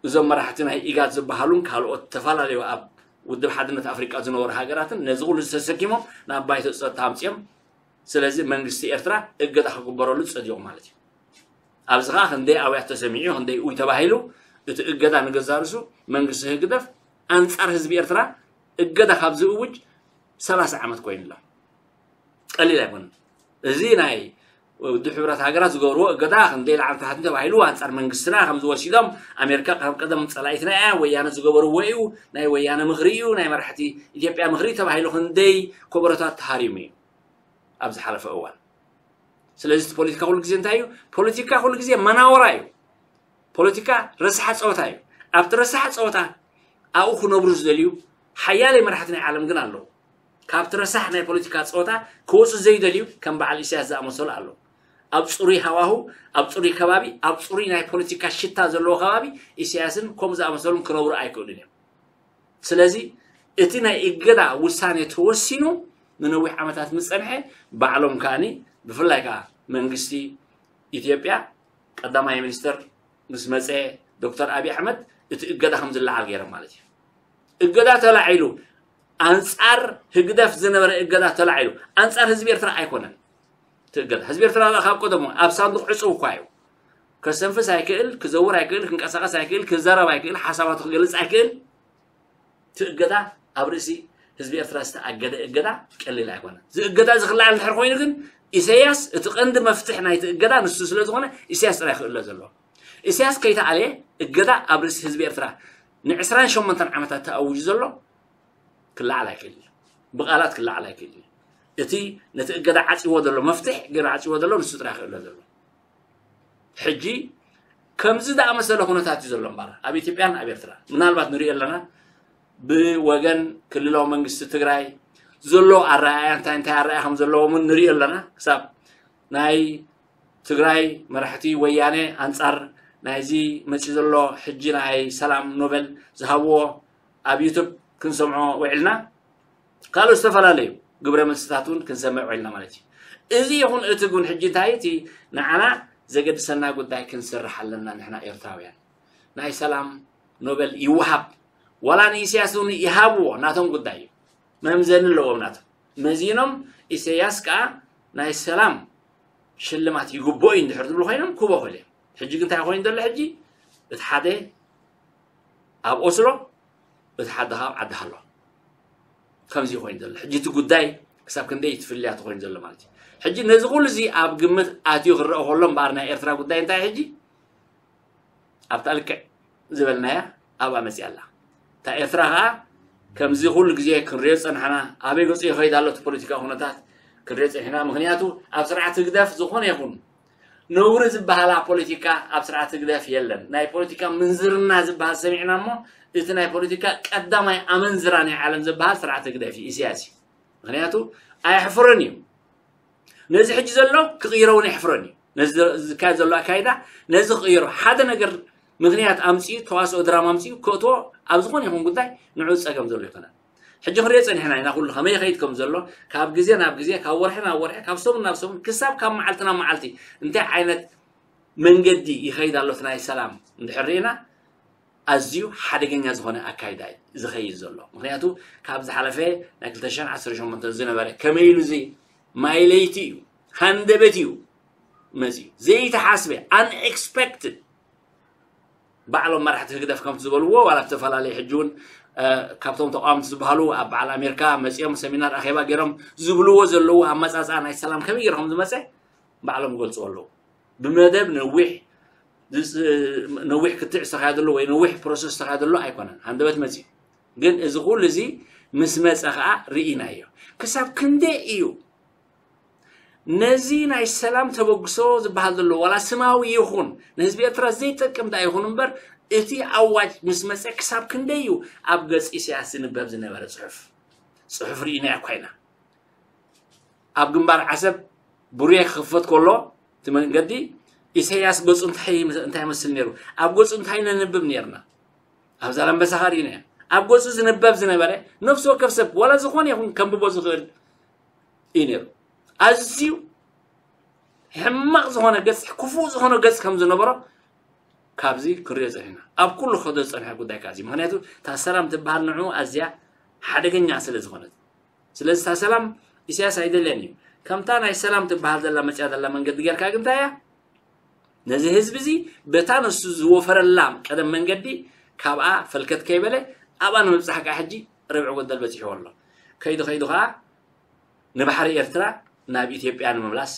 እዞም መራሕቲ ናይ ኢጋድ ዝበሃሉን ካልኦት ዝተፈላለዩ ኣብ ውድብ ሓድነት ኣፍሪቃ ዝነበሩ ሃገራትን ነዚ ኩሉ ተሰኪሞም ናብ ባይቶ ፀጥታ ኣምፅኦም። ስለዚ መንግስቲ ኤርትራ እገዳ ክግበረሉ ፀዲቑ ማለት እዩ። ኣብዚ ከዓ ክንደይ ኣውያት ተሰሚዑ፣ ክንደይ ኡይ ተባሂሉ፣ እቲ እገዳ ንገዛእ ርእሱ መንግስቲ ህግደፍ ኣንፃር ህዝቢ ኤርትራ እገዳ ካብ ዝእውጅ ሰላሳ ዓመት ኮይኑ ኣሎ። ቀሊል ኣይኮነን። እዚ ናይ ውድብ ሕብረት ሃገራት ዝገብርዎ እገዳ ክንደይ ላዕሊ ታሕቲ ተባሂሉ ኣንፃር መንግስትና ከም ዝወሲዶም ኣሜሪካ ከም ቀደም ፀላኢትና እያ፣ ወያነ ዝገበርዎ እዩ፣ ናይ ወያነ ምኽሪ እዩ፣ ናይ መራሕቲ ኢትዮጵያ ምኽሪ ተባሂሉ ክንደይ ኮበረታት ተሃሪሙ እዩ ኣብ ዝሓለፈ እዋን። ስለዚ እቲ ፖለቲካ ኩሉ ግዜ እንታይ እዩ? ፖለቲካ ኩሉ ግዜ መናወራ እዩ። ፖለቲካ ረሳሕ ፀወታ እዩ። ኣብቲ ረሳሕ ፀወታ ኣብኡ ክነብሩ ዝደልዩ ሓያለይ መራሕቲ ናይ ዓለም ግን ኣለዉ። ካብቲ ረሳሕ ናይ ፖለቲካ ፀወታ ክወፁ ዘይደልዩ ከም በዓል ኢሳያስ ዝኣመሰሉ ኣለዉ። ኣብ ፅሩይ ሃዋሁ፣ ኣብ ፅሩይ ከባቢ፣ ኣብ ፅሩይ ናይ ፖለቲካ ሽታ ዘለዎ ከባቢ ኢሳያስን ከምኡ ዝኣመሰሉን ክነብሩ ኣይክእሉን እዮም። ስለዚ እቲ ናይ እገዳ ውሳኔ ተወሲኑ ንነዊሕ ዓመታት ምስ ጸንሐ፣ ባዕሎም ከኣኒ ብፍላይ ከኣ መንግስቲ ኢትዮጵያ ቀዳማይ ሚኒስተር ምስ መጸ ዶክተር ኣብይ ኣሕመድ እቲ እገዳ ከም ዝለዓል ገይሮም ማለት እዩ። እገዳ ተላዒሉ፣ ኣንጻር ህግደፍ ዝነበረ እገዳ ተላዒሉ፣ ኣንጻር ህዝቢ ኤርትራ ኣይኮነን እቲ እገዳ። ህዝቢ ኤርትራ ካብ ቀደሙ ኣብ ሳንዱቕ ዕጹው እኳ እዩ። ከስተንፍስ ኣይክእል፣ ክዘውር ኣይክእል፣ ክንቀሳቐስ ኣይክእል፣ ክዛረብ ኣይክእል፣ ሓሳባቱ ክገልጽ ኣይክእል። እቲ እገዳ ኣብ ርእሲ ህዝቢ ኤርትራ ዝተኣገደ እገዳ ቀሊል ኣይኮነን። እዚ እገዳ እዚ ክለዓል እንድሕር ኮይኑ ግን ኢሳያስ እቲ ቀንዲ መፍትሕ ናይቲ እገዳ ንሱ ስለ ዝኾነ ኢሳያስ ጥራይ ክእለ ዘለዎ። ኢሳያስ ከይተኣልየ እገዳ ኣብ ርእሲ ህዝቢ ኤርትራ ንዕስራን ሸሞንተን ዓመታት ተኣዊጁ ዘሎ ክለዓል ኣይክእልን እዩ። ብቓላት ክለዓል ኣይክእልን እዩ። እቲ ነቲ እገዳ ዓጽዎ ዘሎ መፍትሕ ገይሩ ዓጽዎ ዘሎ ንሱ ጥራይ ክእለ ዘሎ። ሕጂ ከምዚ ዝኣመሰለ ኩነታት እዩ ዘሎ እምበር ኣብ ኢትዮጵያን ኣብ ኤርትራ ምናልባት ንሪኦ ኣለና። ብወገን ክልላዊ መንግስቲ ትግራይ ዘሎ ኣረኣእያ እንታይ እንታይ ኣረኣእያ ከም ዘለዎም እውን ንሪኦ ኣለና። ክሳብ ናይ ትግራይ መራሕቲ ወያነ ኣንጻር ናይዚ መፂ ዘሎ ሕጂ ናይ ሰላም ኖበል ዝሃብዎ ኣብ ዩቱብ ክንሰምዖ ውዒልና። ካልኦት ዝተፈላለዩ ግብረ መልስታት እውን ክንሰምዕ ውዒልና ማለት እዩ። እዚ ይኹን እቲ ግን ሕጂ እንታይ እቲ ንዓና ዘገድሰና ጉዳይ ክንሰርሕ ኣለና። ንሕና ኤርትራውያን ናይ ሰላም ኖበል ይወሃብ ዋላ ንኢሳያስ እውን ይሃብዎ ናቶም ጉዳይ እዩ። መምዘኒ ኣለዎም ናቶም። መዚኖም ኢሳያስ ከዓ ናይ ሰላም ሽልማት ይግብኦ እዩ እንድሕር ዝብሉ ኮይኖም ክቦ ክብል እዮም። ሕጂ ግን እንታይ ኮይኑ ዘሎ ሕጂ እቲ ሓደ ኣብ ኦስሎ እቲ ሓደ ካብ ዓዲ ሃሎ ከምዚ ኮይኑ ዘሎ ሕጂ እቲ ጉዳይ ክሳብ ክንደይ ትፍልያ ትኮይኑ ዘሎ ማለት እዩ። ሕጂ ነዚ ኩሉ እዚ ኣብ ግምት ኣትዩ ክረአ ከሎ እምበኣር ናይ ኤርትራ ጉዳይ እንታይ ሕጂ ኣብታ ልክዕ ዝበልናያ ኣብኣ መፅያ ኣላ። እታ ኤርትራ ከዓ ከምዚ ኩሉ ግዜ ክንሪኦ ዝፀናሕና ኣበይ ገፁ ይኸይድ ኣሎ እቲ ፖለቲካዊ ኩነታት ክንሪኦ ጸኒሕና። ምኽንያቱ ኣብ ስርዓት ህግደፍ ዝኾነ ይኹን ነውሪ ዝበሃላ ፖለቲካ ኣብ ስርዓት ህግደፍ የለን። ናይ ፖለቲካ ምንዝርና ዝበሃል ሰሚዕና እሞ እቲ ናይ ፖለቲካ ቀዳማይ ኣመንዝራ ናይ ዓለም ዝበሃል ስርዓት ህግደፍ እዩ፣ ኢሳያስ እዩ። ምኽንያቱ ኣየሕፍርን እዩ። ነዚ ሕጂ ዘሎ ክቕይሮ እውን የሕፍረን እዩ። ነዚ ዝካየድ ዘሎ ኣካይዳ ነዚ ክቕይሮ ሓደ ነገር ምኽንያት ኣምፅኡ ተዋስኦ ድራማ ኣምፅኡ ክእትዎ ኣብ ዝኾነ ይኹን ጉዳይ ንዑ ፀገም ዘሎ ይኮነን። ሕጂ ክንሪኦ ፀኒሕና ኢና ኩሉ ከመይ ይኸይድ ከም ዘሎ ካብ ግዜ ናብ ግዜ ካብ ወርሒ ናብ ወርሒ ካብ ሰሙን ናብ ሰሙን ክሳብ ካብ መዓልቲ ናብ መዓልቲ እንታይ ዓይነት መንገዲ ይኸይድ ኣሎ እቲ ናይ ሰላም እንድሕር ርኢና ኣዝዩ ሓደገኛ ዝኾነ ኣካይዳ እዩ ዝኸይድ ዘሎ። ምኽንያቱ ካብ ዝሓለፈ ናይ ክልተ ሽሕን ዓሰርተ ሸሞንተን ዝነበረ ከመይ ኢሉ እዚ ማይ ለይቲ እዩ፣ ሃንደበት እዩ መፂኡ፣ ዘይተሓስበ unexpected። ባዕሎም መራሕቲ ህግደፍ ከምቲ ዝበልዎ ዋላ ዝተፈላለዩ ሕጂ እውን ካብቶም ተቃወምቲ ዝበሃሉ ኣብ በዓል ኣሜሪካ መፂኦም ሰሚናር ኣኼባ ገይሮም ዝብልዎ ዘለዉ ኣመፃፅኣ ናይ ሰላም ከመይ ገይሩ ከም ዝመፀ ባዕሎም ይገልፅዎ ኣለዉ። ብመደብ ነዊሕ ነዊሕ ክትዕ ዝተኻየደሉ ወይ ነዊሕ ፕሮሰስ ዝተኻየደሉ ኣይኮነን። ሃንደበት መፂኡ ግን እዚ ኩሉ እዚ ምስ መፀ ከዓ ርኢናዮ። ክሳብ ክንደይ እዩ ነዚ ናይ ሰላም ተበግሶ ዝበሃል ዘሎ ዋላ ስማዊ ይኹን ንህዝቢ ኤርትራ ዘይጠቅም ዳ ይኹን እምበር እቲ ኣዋጅ ምስ መፀ ክሳብ ክንደይ እዩ ኣብ ገፅ ኢሳያስ ዝንበብ ዝነበረ ፅሑፍ? ፅሑፍ ርኢናዮ እኳ ኢና። ኣብ ግንባር ዓሰብ ቡሬ ክኽፈት ከሎ እቲ መንገዲ ኢሳያስ ገፁ እንታይ እንታይ ይመስል ነይሩ? ኣብ ገፁ እንታይ ነንብብ ነርና? ኣብ ዛላምበሳ ኸኣ ርኢናዮ። ኣብ ገፁ ዝንበብ ዝነበረ ነፍሲ ወከፍ ሰብ ዋላ ዝኾነ ይኹን ከንብቦ ዝኽእል እዩ ነይሩ። ኣዝዩ ሕማቕ ዝኾነ ገፅ ክፉእ ዝኾነ ገፅ ከም ዝነበሮ ካብዚ ክንሪኦ ፀኒሕና ኣብ ኩሉ ክኸዶ ዝፀንሐ ጉዳይ ካዚ ምክንያቱ እታ ሰላም ትበሃል ንዑ ኣዝያ ሓደገኛ ስለ ዝኾነት ስለዚ እታ ሰላም ኢሳያስ ኣይደልያን እዩ ከምታ ናይ ሰላም ትበሃል ዘላ መፅያ ዘላ መንገዲ ጌርካ ግንታ እያ ነዚ ህዝቢ እዚ በታ ንሱ ዝወፈረላ ቀደም መንገዲ ካብኣ ፈልከት ከይበለ ኣብኣ ንምብፃሕ ከዓ ሕጂ ርብዒ ጎደል በፂሕዎ ኣሎ ከይዱ ከይዱ ከዓ ንባሕሪ ኤርትራ ናብ ኢትዮጵያ ንምምላስ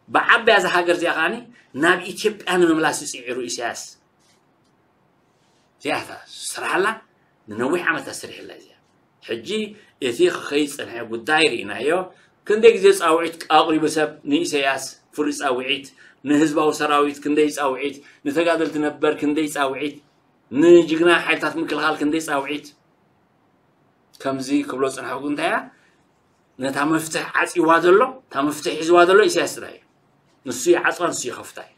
ብዓባያ እዛ ሃገር እዚኣ ከዓኒ ናብ ኢትዮጵያ ንምምላስ እዩ ፅዒሩ ኢሳያስ እዚኣታ ስራሕላ ንነዊሕ ዓመታት ሰሪሕላ እዚኣ ሕጂ እቲ ክኸይድ ዝፀንሐ ጉዳይ ርኢናዮ ክንደይ ግዜ ፃውዒት ኣቕሪቡ ሰብ ንኢሳያስ ፍሉይ ፃውዒት ንህዝባዊ ሰራዊት ክንደይ ፃውዒት ንተጋደልቲ ነበር ክንደይ ፃውዒት ንጅግና ሓይልታት ምክልኻል ክንደይ ፃውዒት ከምዚ ክብሎ ዝፅንሐኩ እንታይ እያ ነታ መፍትሕ ዓፂዋ ዘሎ እታ መፍትሕ ሒዝዋ ዘሎ ኢሳያስ ጥራይ እዩ ንሱ ይዓፅዋ ንሱ ይኸፍታ እዩ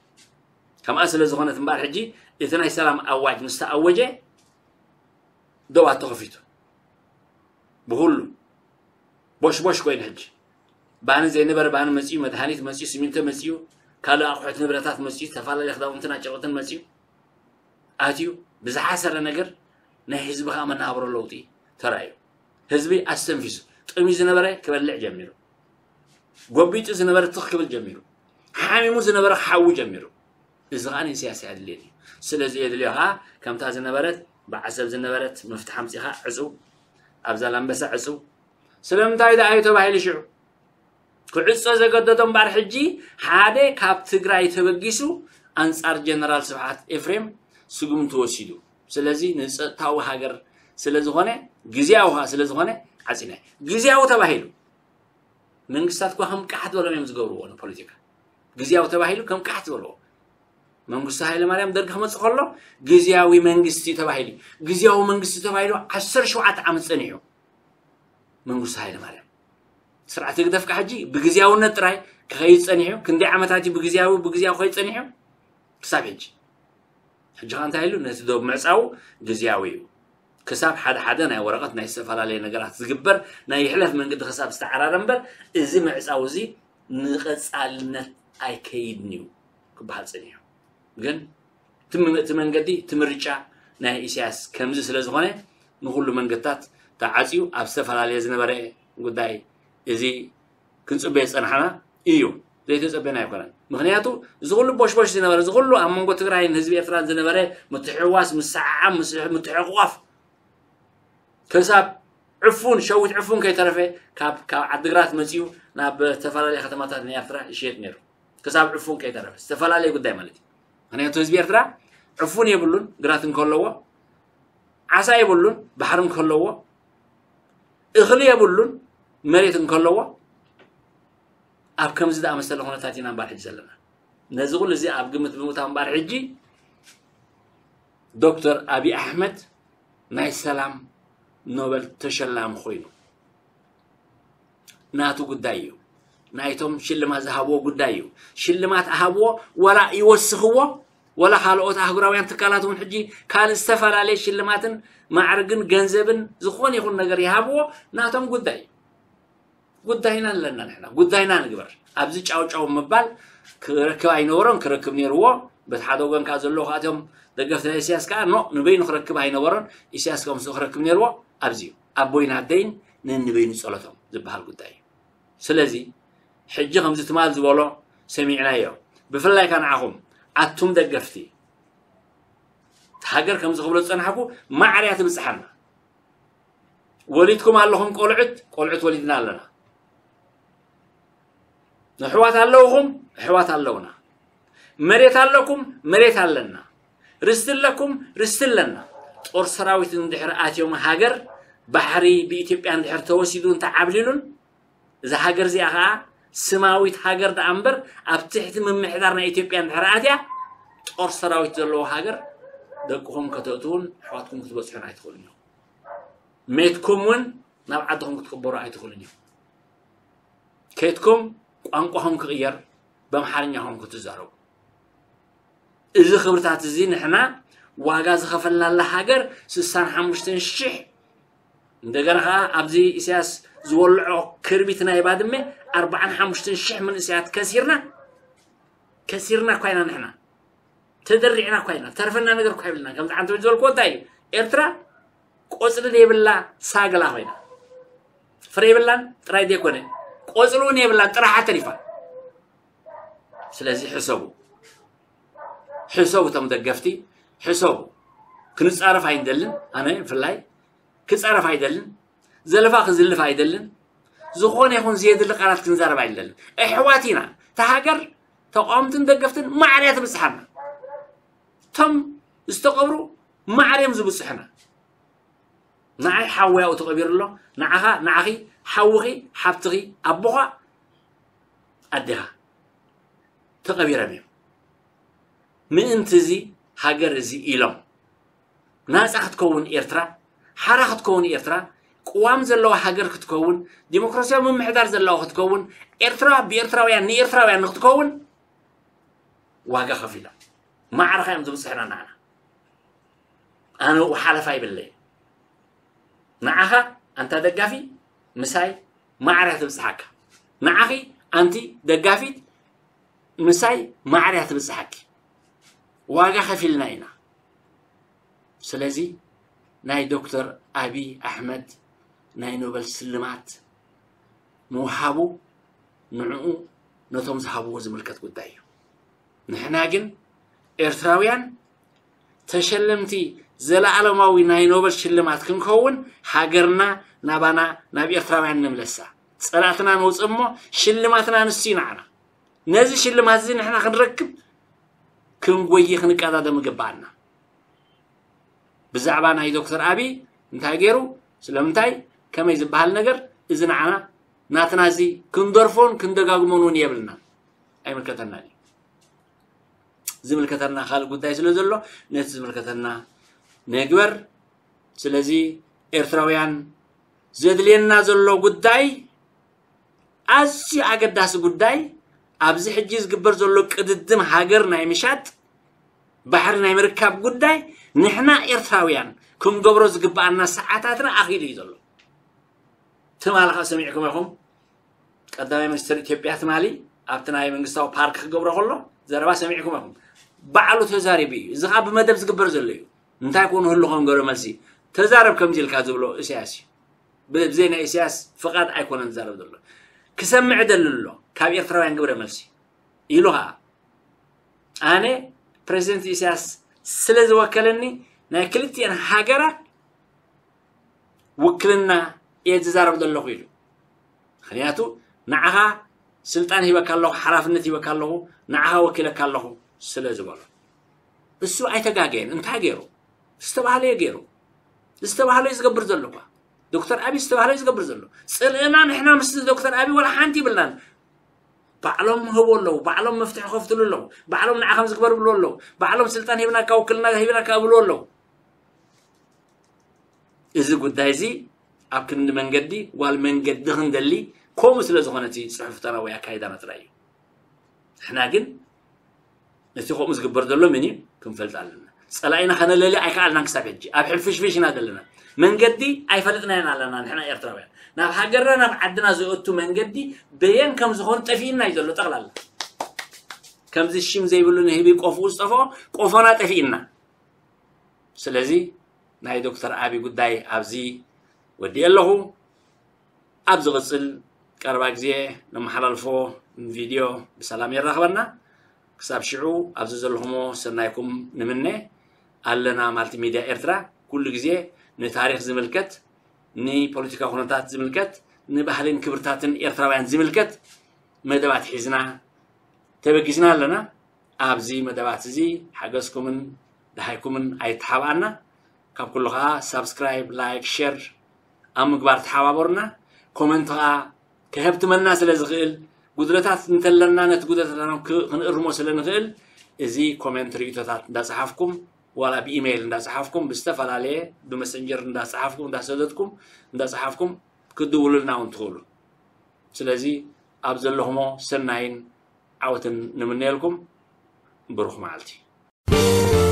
ከምኣ ስለ ዝኾነት እምበኣር ሕጂ እቲ ናይ ሰላም ኣዋጅ ምስ ተኣወጀ ደባት ተኸፊቱ ብኩሉ ቦሽቦሽ ኮይኑ ሕጂ ባኒ ዘይነበረ ባኒ መፅዩ መድሃኒት መፅዩ ሲሚንቶ መፅዩ ካልእ ኣቑሑት ንብረታት መፅዩ ዝተፈላለዩ ክዳውንትን ኣጨርቅትን መፅዩ ኣትዩ ብዝሓሰረ ነገር ናይ ህዝቢ ከዓ መናብሮ ለውጢ ተራእዩ ህዝቢ ኣስተንፊሱ ጥምዩ ዝነበረ ክበልዕ ጀሚሩ ጎቢጡ ዝነበረ ትኽ ክብል ጀሚሩ ሓሚሙ ዝነበረ ክሓዊ ጀሚሩ እዚ ከዓ ንኢሳያስ ኣየድልየን እዩ ስለዚ የድልዮ ከዓ ከምታ ዝነበረት ብዓሰብ ዝነበረት መፍትሒ ኣምፂኻ ዕፅው ኣብ ዛላምበሳ ዕፅው ስለምንታይ ደኣ እዩ ተባሂሉ ሽዑ ክዕጾ ዘገደዶ እምበኣር ሕጂ ሓደ ካብ ትግራይ ተበጊሱ ኣንጻር ጀነራል ስብሓት ኤፍሬም ስጉምቲ ወሲዱ ስለዚ ንፀጥታዊ ሃገር ስለዝኾነ ግዜያዊ ከዓ ስለዝኾነ ዓፂና ግዜያዊ ተባሂሉ መንግስታት እኳ ከም ቃሕ ዝበሎም እዮም ዝገብርዎ ንፖለቲካ ግዜያዊ ተባሂሉ ከም ቃሕ ዝበልዎ መንግስቱ ሃይለማርያም ደርጊ ክመፅእ ከሎ ግዜያዊ መንግስቲ ተባሂሉ ግዜያዊ መንግስቲ ተባሂሉ ዓሰርተ ሸውዓተ ዓመት ፀኒሑ መንግስቱ ሃይለማርያም ስርዓት ህግደፍ ከዓ ሕጂ ብግዜያውነት ጥራይ ክኸይድ ፀኒሑ ክንደይ ዓመታት እዩ ብግዜያዊ ብግዜያዊ ክኸይድ ፀኒሑ ክሳብ ሕጂ ሕጂ ከዓ እንታይ ኢሉ ነቲ ዶብ ምዕፃው ግዜያዊ እዩ ክሳብ ሓደ ሓደ ናይ ወረቐት ናይ ዝተፈላለየ ነገራት ዝግበር ናይ ይሕለፍ መንገዲ ክሳብ ዝተዓራረ እምበር እዚ ምዕፃው እዚ ንቐፃልነት ኣይከይድን እዩ ክበሃል ፀኒሑ ግን እቲ መንገዲ እቲ ምርጫ ናይ ኢሳያስ ከምዚ ስለ ዝኾነ ንኩሉ መንገድታት ተዓፅዩ ኣብ ዝተፈላለየ ዝነበረ ጉዳይ እዚ ክንፅበ ዝፀናሕና እዩ ዘይተፀበና ኣይኮነን ምክንያቱ እዚ ኩሉ ቦሽቦሽ ዝነበረ እዚ ኩሉ ኣብ መንጎ ትግራይን ህዝቢ ኤርትራን ዝነበረ ምትሕዋስ ምስዓዓም ምትሕቋፍ ክሳብ ዕፉን ሸዊት ዕፉን ከይተረፈ ካብ ካብ ዓድግራት መፂኡ ናብ ዝተፈላለየ ከተማታት ናይ ኤርትራ ይሽየጥ ነይሩ ክሳብ ዕፉን ከይተረፈ ዝተፈላለየ ጉዳይ ማለት እዩ ምክንያቱ ህዝቢ ኤርትራ ዕፉን የብሉን ግራት እንከለዎ ዓሳ የብሉን ባሕሪ እንከለዎ እኽሊ የብሉን መሬት እንከለዎ ኣብ ከምዚ ዝኣመሰለ ኩነታት ኢና እምበር ሕጂ ዘለና። ነዚ ኩሉ እዚ ኣብ ግምት ብምእታው እምበር ሕጂ ዶክተር ኣብይ ኣሕመድ ናይ ሰላም ኖበል ተሸላሚ ኮይኑ ናቱ ጉዳይ እዩ። ናይቶም ሽልማት ዝሃብዎ ጉዳይ እዩ። ሽልማት ኣሃብዎ፣ ወላ ይወስኽዎ፣ ወላ ካልኦት ኣህጉራውያን ትካላት እውን ሕጂ ካልእ ዝተፈላለየ ሽልማትን ማዕርግን ገንዘብን ዝኾነ ይኹን ነገር ይሃብዎ፣ ናቶም ጉዳይ እዩ። ጉዳይና ኣለና ንሕና፣ ጉዳይና ንግበር። ኣብዚ ጫው ጫው ምባል ክረክብ ኣይነበሮን፣ ክረክብ ነይርዎ። በቲ ሓደ ወገን ከዓ ዘለዉ ከዓ እቶም ደገፍቲ ናይ ኢሳያስ ከዓ ኖ፣ ንበይኑ ክረክብ ኣይነበሮን፣ ኢሳያስ ከዓ ምስኡ ክረክብ ነይርዎ። ኣብዚ እዩ ኣቦይን ኣደይን ነንበይኑ ጸሎቶም ዝበሃል ጉዳይ እዩ። ስለዚ ሕጂ ከምዚ ትማል ዝበሎ ሰሚዕናዮ። ብፍላይ ከዓ ንዓኹም ኣቱም ደገፍቲ ሃገር ከምዚ ክብሎ ዝጸናሕኩ ማዕርያ ትብጽሓና። ወሊድኩም ኣለኹም ቆልዑት፣ ቆልዑት ወሊድና ኣለና። ኣሕዋት ኣለውኹም፣ ኣሕዋት ኣለውና። መሬት ኣለኩም፣ መሬት ኣለና። ርስቲ ኣለኩም፣ ርስቲ ኣለና። ጦር ሰራዊት እንድሕር ኣትዮም ሃገር ባሕሪ ብኢትዮጵያ እንድሕር ተወሲዱ እንተዓብሊሉን እዛ ሃገር እዚኣ ኸዓ ስማዊት ሃገር ደኣ እምበር ኣብ ትሕቲ ምምሕዳር ናይ ኢትዮጵያ እንድሕር ኣትያ ጦር ሰራዊት ዘለዎ ሃገር ደቅኹም ከተእትውን ኣሕዋትኩም ክትበጽሑን ኣይትኽእሉን ኢኹም። ሜትኩም እውን ናብ ዓድኹም ክትቅበሩ ኣይትኽእሉን ኢኹም። ከይትኩም ቋንቋኹም ክቕየር፣ በምሓርኛኹም ክትዛረቡ። እዚ ክብርታት እዚ ንሕና ዋጋ ዝኸፈልናላ ሃገር ስሳን ሓሙሽተን ሽሕ እንደገና ኸዓ ኣብዚ ኢሳያስ ዝወልዖ ክርቢት ናይ ባድመ ኣርባዓን ሓሙሽተን ሽሕ መንእሰያት ከሲርና፣ ከሲርና እኳ ኢና ንሕና። ተደሪዕና እኳ ኢና። ተርፈና ነገር እኳ የብልና። ከምዚ ዓንተ ዝበልክዎ እንታይ እዩ? ኤርትራ ቆጽሊ ዘይብላ ሳግላ ኮይና። ፍረ የብላን ጥራይ ዘይኮነ፣ ቆጽሊ እውን የብላን፣ ጥራሓ ተሪፋ። ስለዚ ሕሰቡ። ሕሰቡ እቶም ደገፍቲ፣ ሕሰቡ። ክንጻረፍ ኣይንደልን፣ ኣነ ብፍላይ ክጻረፍ ኣይደልን፣ ዘለፋ ክዝልፍ ኣይደልን፣ ዝኾነ ይኹን ዘየድሊ ቃላት ክንዛረብ ኣይደልን። ኣሕዋት ኢና። እታ ሃገር ተቃወምትን ደገፍትን ማዕርያ ትብጽሓና። እቶም ዝተቐብሩ ማዕርዮም ዝብጽሑና። ንዓይ ሓወይ ኣብኡ ተቐቢሩ ኣሎ፣ ንዓኻ፣ ንዓኺ፣ ሓውኺ፣ ሓብትኺ፣ ኣቦኻ፣ ኣዴኻ ተቐቢሮም እዮም። ምእንቲ እዚ ሃገር እዚ ኢሎም ናጻ ክትከውን ኤርትራ፣ ሓራ ክትከውን ኤርትራ፣ ቅዋም ዘለዋ ሃገር ክትከውን፣ ዲሞክራሲያዊ ምምሕዳር ዘለዋ ክትከውን፣ ኤርትራ ብኤርትራውያን ንኤርትራውያን ንክትከውን ዋጋ ከፊሎም። ማዕረኻ እዮም ዝብጽሕና ንዓና። ኣነ ኣብኡ ሓለፋ ይብለይ። ንዓኻ ኣንታ ደጋፊ ምሳይ ማዕረ ትብጽሓካ። ንዓኺ ኣንቲ ደጋፊት ምሳይ ማዕረ ትብጽሓኪ። ዋጋ ከፊልና ኢና። ስለዚ ናይ ዶክተር ኣብይ ኣሕመድ ናይ ኖበል ስልማት ምውሃቡ ንዕኡ ነቶም ዝሃብዎ ዝምልከት ጉዳይ እዩ። ንሕና ግን ኤርትራውያን ተሸለምቲ ዘለኣለማዊ ናይ ኖበል ሽልማት ክንከውን ሃገርና ናባና ናብ ኤርትራውያን ንምለሳ። ጸላእትና ነውጽእ እሞ ሽልማትና ንሱ እዩ ንዓና። ነዚ ሽልማት እዚ ንሕና ክንረክብ ክንጎይ ክንቀዳደም ይግብኣና። ብዛዕባ ናይ ዶክተር ኣብይ እንታይ ገይሩ ስለምንታይ ከመይ ዝበሃል ነገር እዚ ንዓና ናትና እዚ ክንደርፎን ክንደጋግሞን እውን የብልናን። ኣይምልከተናን እዩ። ዝምልከተና ካልእ ጉዳይ ስለ ዘሎ ነቲ ዝምልከተና ንግበር። ስለዚ ኤርትራውያን ዘድልየና ዘሎ ጉዳይ ኣዝዩ ኣገዳሲ ጉዳይ ኣብዚ ሕጂ ዝግበር ዘሎ ቅድድም ሃገር ናይ ምሻጥ ባሕሪ ናይ ምርካብ ጉዳይ ንሕና ኤርትራውያን ክንገብሮ ዝግብኣና ሰዓታትና ኣኺሉ እዩ ዘሎ። ትማሊ ኸዓ ሰሚዕኩም ኢኹም ቀዳማይ ሚኒስትር ኢትዮጵያ ትማሊ ኣብቲ ናይ መንግስታዊ ፓርክ ክገብሮ ከሎ ዘረባ ሰሚዕኩም ኢኹም። ባዕሉ ተዛሪቡ እዩ። እዚ ኸዓ ብመደብ ዝግበር ዘሎ እዩ። እንታይ ኮኑ ህልኾም ገብረ መልሲ ተዛረብ ከምዚ ኢልካ ዝብሎ ኢሳያስ እዩ። ብዘይ ናይ ኢሳያስ ፍቓድ ኣይኮነን ዝዛረብ ዘሎ። ክሰምዕ ደሊ ኣሎ ካብ ኤርትራውያን ግብረ መልሲ ኢሉ ኸዓ ኣነ ፕሬዚደንት ኢሳያስ ስለ ዝወከለኒ ናይ ክልቲኤን ሃገራት ውክልና እየ ዝዛረብ ዘለኹ ኢሉ። ምክንያቱ ንዓኻ ስልጣን ሂበካ ኣለኹ፣ ሓላፍነት ሂበካ ኣለኹ፣ ንዓኻ ወኪለካ ኣለኹ ስለ ዝበሎ እሱ ኣይተጋገየን። እንታይ ገይሩ? ዝተባህለዮ ገይሩ። ዝተባህለዮ ዝገብር ዘሎ እኳ ዶክተር ኣብይ ዝተባህለዮ ዝገብር ዘሎ ጽልእና ንሕና ምስ ዶክተር ኣብይ ወላ ሓንቲ ይብልናን። ባዕሎም ህቦ ኣለዉ፣ ባዕሎም መፍትሒ ከፍትሉ ኣለዉ፣ ባዕሎም ንዓ ከም ዝግበር ብሉ ኣለዉ፣ ባዕሎም ስልጣን ሂብናካ ውክልና ሂብናካ ብሉ ኣለዉ። እዚ ጉዳይ እዚ ኣብ ክንዲ መንገዲ ዋል መንገዲ ክንደሊ ከምኡ ስለ ዝኾነ እቲ ጽሑፍታና ወይ ኣካይዳና ጥራይ እዩ። ንሕና ግን ነቲ ከምኡ ዝግበር ዘሎ ምን እዩ ክንፈልጥ ኣለና። ጸላኢና ከነለሊ ኣይከኣልናን ክሳብ ሕጂ ኣብ ሕልፍሽፍሽ ኢና ዘለና። መንገዲ ኣይፈለጥናዮን ኣለና። ንሕና ኤርትራውያን ናብ ሃገርና ናብ ዓድና ዝእቱ መንገዲ በየን ከም ዝኾኑ ጠፊእና እዩ ዘሎ ጠቕላላ። ከምዚ ሽም ዘይብሉ ንህቢ ቆፍኡ ዝጠፍኦ ቆፎና ጠፊእና። ስለዚ ናይ ዶክተር ኣቢ ጉዳይ ኣብዚ ወዲኤ ኣለኹ። ኣብ ዝቕጽል ቀረባ ግዜ ነመሓላልፎ ቪድዮ ብሰላም የራኽበና። ክሳብ ሽዑ ኣብዚ ዘለኹሞ ሰናይኩም ንምነ። ኣለና ማልቲ ሚድያ ኤርትራ ኩሉ ግዜ ንታሪኽ ዝምልከት፣ ንፖለቲካ ኩነታት ዝምልከት፣ ንባህልን ክብርታትን ኤርትራውያን ዝምልከት መደባት ሒዝና ተበጊስና ኣለና። ኣብዚ መደባት እዚ ሓገዝኩምን ደሃይኩምን ኣይተሓብኣና። ካብ ኩሉ ከዓ ሳብስክራይብ፣ ላይክ፣ ሸር ኣብ ምግባር ተሓባበሩና። ኮመንት ከዓ ከሀብትመና ስለ ዝኽእል ጉድለታት እንተለና ነቲ ጉድለታትና ክ- ክንእርሞ ስለ ንኽእል እዚ ኮመንት ርእቶታት እንዳፀሓፍኩም ዋላ ብኢሜይል እንዳፀሓፍኩም ብዝተፈላለየ ብመሰንጀር እንዳፀሓፍኩም እንዳሰደድኩም እንዳፀሓፍኩም ክትድውሉልና እውን ትኽእሉ። ስለዚ ኣብ ዘለኹሞ ሰናይን ዓወትን ንምነየልኩም። ብሩኽ መዓልቲ።